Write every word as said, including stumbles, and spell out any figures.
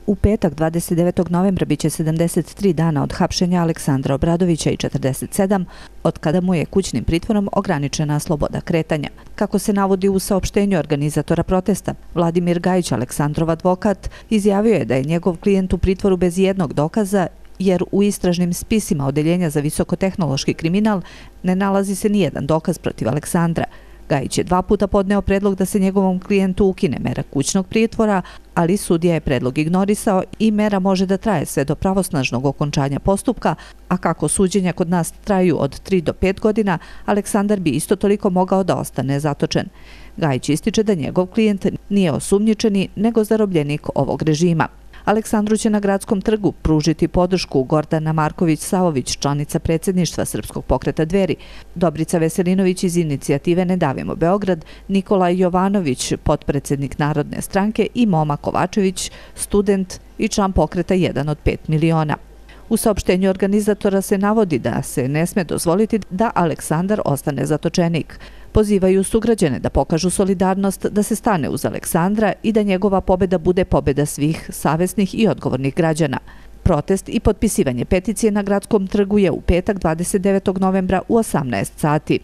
U petak dvadeset devetog novembra biće sedamdeset tri dana od hapšenja Aleksandra Obradovića i četrdeset sedam od kada mu je kućnim pritvorom ograničena sloboda kretanja. Kako se navodi u saopštenju organizatora protesta, Vladimir Gajić, Aleksandrov advokat, izjavio je da je njegov klijent u pritvoru bez jednog dokaza jer u istražnim spisima Odeljenja za visokotehnološki kriminal ne nalazi se nijedan dokaz protiv Aleksandra. Gajić je dva puta podneo predlog da se njegovom klijentu ukine mera kućnog pritvora, ali sudija je predlog ignorisao i mera može da traje sve do pravosnažnog okončanja postupka, a kako suđenja kod nas traju od tri do pet godina, Aleksandar bi isto toliko mogao da ostane zatočen. Gajić ističe da njegov klijent nije osumnjičeni, nego zarobljenik ovog režima. Aleksandru će na Gradskom trgu pružiti podršku Gordana Marković-Savović, članica predsjedništva Srpskog pokreta Dveri, Dobrica Veselinović iz inicijative Ne davimo Beograd, Nikolaj Jovanović, potpredsjednik Narodne stranke i Moma Kovačević, student i član pokreta jedan od pet miliona. U saopštenju organizatora se navodi da se ne sme dozvoliti da Aleksandar ostane zatočenik. Pozivaju sugrađane da pokažu solidarnost, da se stane uz Aleksandra i da njegova pobjeda bude pobjeda svih savesnih i odgovornih građana. Protest i potpisivanje peticije na Gradskom trgu je u petak dvadeset devetog novembra u osamnaest sati.